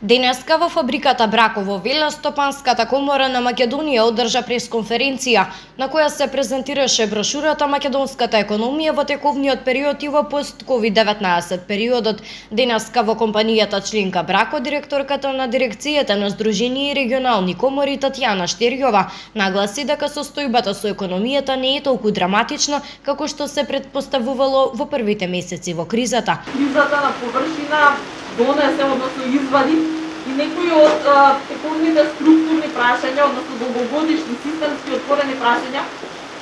Денеска во фабриката Браково Велостопанската комора на Македонија одржа пресконференција на која се презентираше брошурата Македонската економија во тековниот период и во пост-COVID-19 периодот. Денеска во компанијата членка Брако директорката на дирекцијата на Сдружение и регионални комори Татјана Штерјова нагласи дека состојбата со економијата не е толку драматична како што се претпоставувало во првите месеци во кризата. Кризата на површина донесе, односно извади и некои од тековните структурни прашања, односно долгогодишни системски отворени прашања,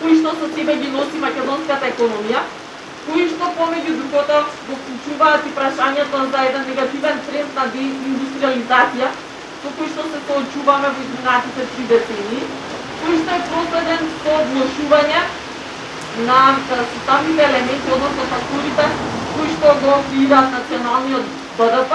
кои што со себе ги носи македонската економија, кои што помеѓу другото го вклучуваат и прашањето за еден негативен тренд на деиндустриализација, со кој што се соочуваме во изминатите 3 децении, кои што е проследен со влошување на составните елементи, односно факторите кои што го креираат националниот БДП,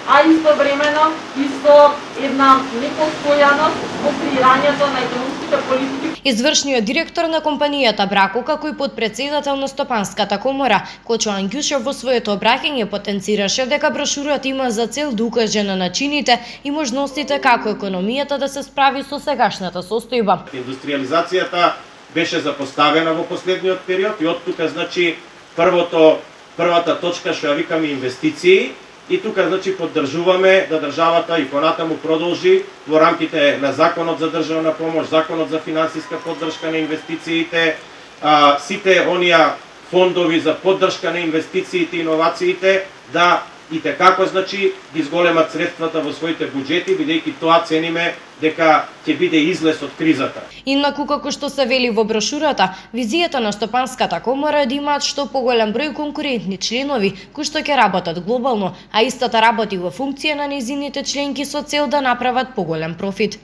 а истовремено и со една непостојаност во креирањето на економските политики. Извршниот директор на компанијата Брако, како и подпредседател на Стопанската комора, Кочо Ангјушев во своето обраќање потенцираше дека брошурата има за цел да укаже на начините и можностите како економијата да се справи со сегашната состојба. Индустриализацијата беше запоставена во последниот период и од тука значи првата точка што ја викаме инвестиции. И тука значи поддржуваме да државата и понатаму продолжи во рамките на Законот за државна помош, Законот за финансиска поддршка на инвестициите, сите оние фондови за поддршка на инвестициите и иновациите да и како значи ги зголемат средствата во своите буџети, бидејќи тоа цениме дека ќе биде излез од кризата. Инаку како што се вели во брошурата, визијата на Стопанската комора е да имаат што поголем број конкурентни членови кои што ќе работат глобално, а истата работи во функција на нејзините членки со цел да направат поголем профит.